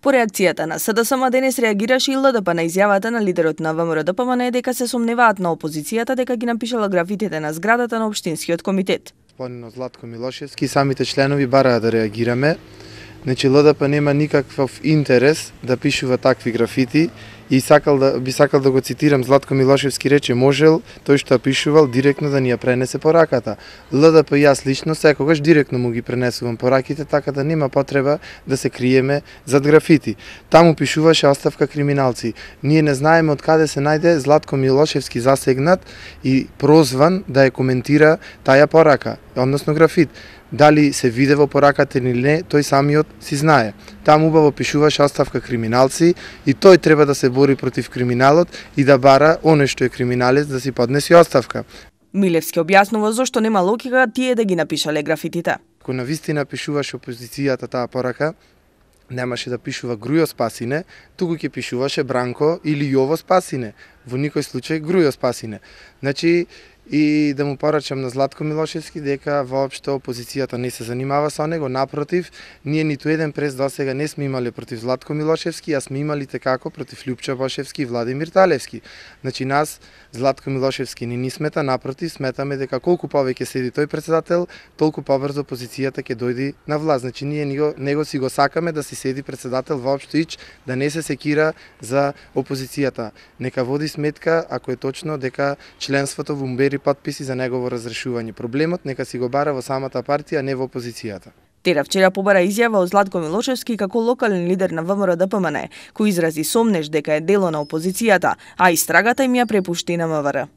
По реакцијата на СДСМ денес реагираше и ЛДП на изјавата на лидерот на ВМРО-ДПМН дека се сомневаат на опозицијата дека ги напишала графитите на зградата на Општинскиот комитет. Господинот Златко Милошевски, самите членови бараа да реагираме. Значи ЛДП нема никаков интерес да пишува такви графити и би сакал да го цитирам, Златко Милошевски рече можел тој што пишувал директно да ни ја пренесе пораката. ЛДП и јас лично секогаш директно му ги пренесувам пораките, така да нема потреба да се криеме зад графити. Таму пишуваше оставка криминалци. Ние не знаеме од каде се најде Златко Милошевски засегнат и прозван да ја коментира таја порака, односно графит. Дали се виде во пораката или не, тој самиот си знае. Таму убаво пишуваше оставка криминалци и тој треба да се бори против криминалот и да бара оној што е криминалец да си поднеси оставка. Милевски објаснува зошто нема логика тие да ги напишале графитите. Ако навистина пишуваше опозицијата таа порака, немаше да пишува Грујо Спасине, туку ќе пишуваше Бранко или Јово Спасине. Во никој случај Грујо Спасине. Значи, и да му порачам на Златко Милошевски дека воопшто опозицијата не се занимава со него, напротив, ние ниту еден прес досега не сме имале против Златко Милошевски, а сме имали текако против Лјупчо Бошевски и Владимир Талевски. Значи нас Златко Милошевски не ни смета, напротив, сметаме дека колку повеќе седи тој председател, толку побрзо опозицијата ќе дојде на власт. Значи ние него си го сакаме да си седи председател воопшто ич, да не се секира за опозицијата. Нека води сметка ако е точно дека членството во умбери подписи за негово разрешување. Проблемот нека си го бара во самата партија, не во опозицијата. Тера вчера побара изјава од Златко Милошевски како локален лидер на ВМРО-ДПМН, кој изрази сомнеж дека е дело на опозицијата, а истрагата им ја препушти на МВР.